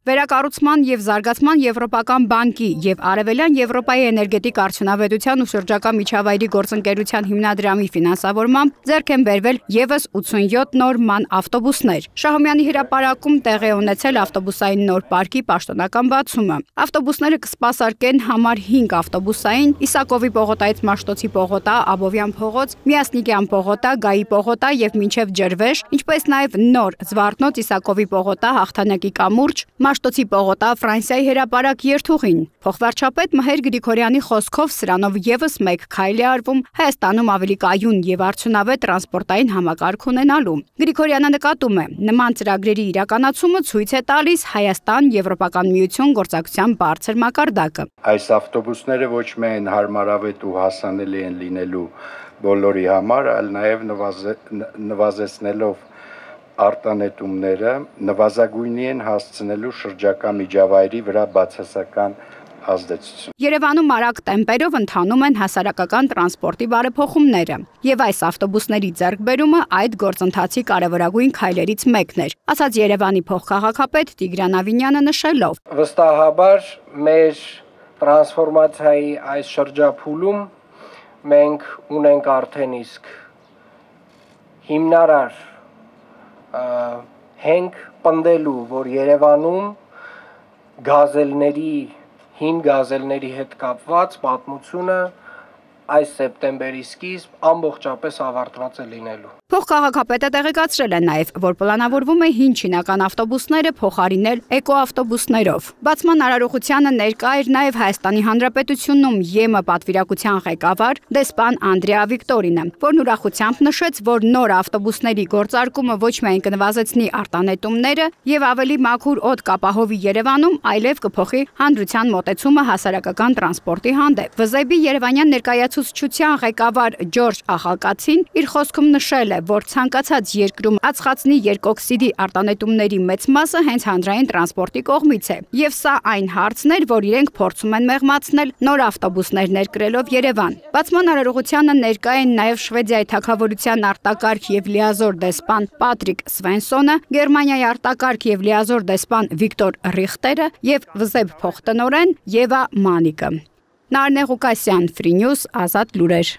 Վերակառուցման և զարգացման Եվրոպական բանկի և Արևելյան Եվրոպայի էներգետիկ արդյունավետության ու շրջակա միջավայրի գործընկերության հիմնադրամի ֆինանսավորմամբ ձեռք են բերվել ևս 87 նոր ման ավտոբուսներ։ Շահումյանի հրապարակում տեղի է ունեցել ավտոբուսային նոր պարկի պաշտոնական բացումը։ Ավտոբուսները կսպասարկեն համար 5 ավտոբուսային Իսակովի պողոտայից Մաշտոցի պողոտա, Աբովյան փողոց, Միասնիկյան պողոտա, Գայի պողոտա և մինչև Ջրվեժ, ինչպես նաև նոր Զվարթնոց Իսակովի պողոտա, Հաղթանակի կամուրջ, Մաշտոցի պողոտա, Ֆրանսիայի հրապարակ երթուղին։ Փոխվարչապետ Մհեր Գրիգորյանի խոսքով սրանով ևս մեկ քայլ է արվում Հայաստանում ավելի կայուն և արդյունավետ տրանսպորտային համակարգ ունենալու։ Գրիգորյանը նկատում է, նման ծրագրերի իրականացումը ցույց է տալիս Հայաստան-Եվրոպական միություն գործակցության բարձր մակարդակը։ Այս ավտոբուսները ոչ միայն հարմարավետ ու հասանելի են լինելու բոլորի համար, այլ նաև նվազեցնելով արտանետումները նվազագույնի են հասցնելու շրջակա միջավայրի վրա բացասական ազդեցություն։ Երևանում արագ տեմպերով ընթանում են հասարակական տրանսպորտի բարեփոխումները, եւ այս ավտոբուսների ձեռքբերումը այդ գործընթացի կարևորագույն քայլերից մեկն էր, ասաց Երևանի փոխքաղաքապետ Տիգրան Ավինյանը նշելով. Վստահաբար մեր տրանսֆորմացիայի այս շրջափուլում մենք ունենք արդեն իսկ հիմնարար հենք պնդելու, որ Երևանում հին գազելների հետ կապված պատմությունը այս սեպտեմբերի սկիզբ ամբողջապես ավարտված է լինելու։ Փոխքաղաքապետը տեղեկացրել է նաև, որ պլանավորվում է հին չինական ավտոբուսները փոխարինել էկոավտոբուսներով։ Բացման արարողությանը ներկա էր նաև Հայաստանի Հանրապետությունում ԵՄ պատվիրակության ղեկավար դեսպան Անդրեա Վիկտորինը, որն ուրախությամբ նշեց, որ նոր ավտոբուսների գործարկումը ոչ միայն կնվազեցնի արտանետումները եւ ավելի մաքուր օդ կապահովի Երևանում, այլև կփոխի հանրության մոտեցումը հասարակական տրանսպորտի հանդեպ։ ՎԶԵԲ-ի Երևանյան ներկայացուցչության ղեկավար Ջորջ Ախալկացին իր խոսքում նշել է, որ ցանկացած երկրում ածխածնի երկօքսիդի արտանետումների մեծ մասը հենց հանրային տրանսպորտի կողմից է, եւ սա այն հարցն էր, որ իրենք փորձում են մեղմացնել նոր ավտոբուսներ ներկրելով Երևան։ Բացման արարողությանը ներկա են նաև Շվեդիայի թագավորության արտակարգ եւ լիազոր դեսպան Պատրիկ Սվենսոնը, Գերմանիայի արտակարգ եւ լիազոր դեսպան Վիկտոր Ռիխտերը եւ ՎԶԵԲ փոխտնօրեն Եվա Մանիկը։ Նարնե Ղուկասյան, Free News, Ազատ լուրեր։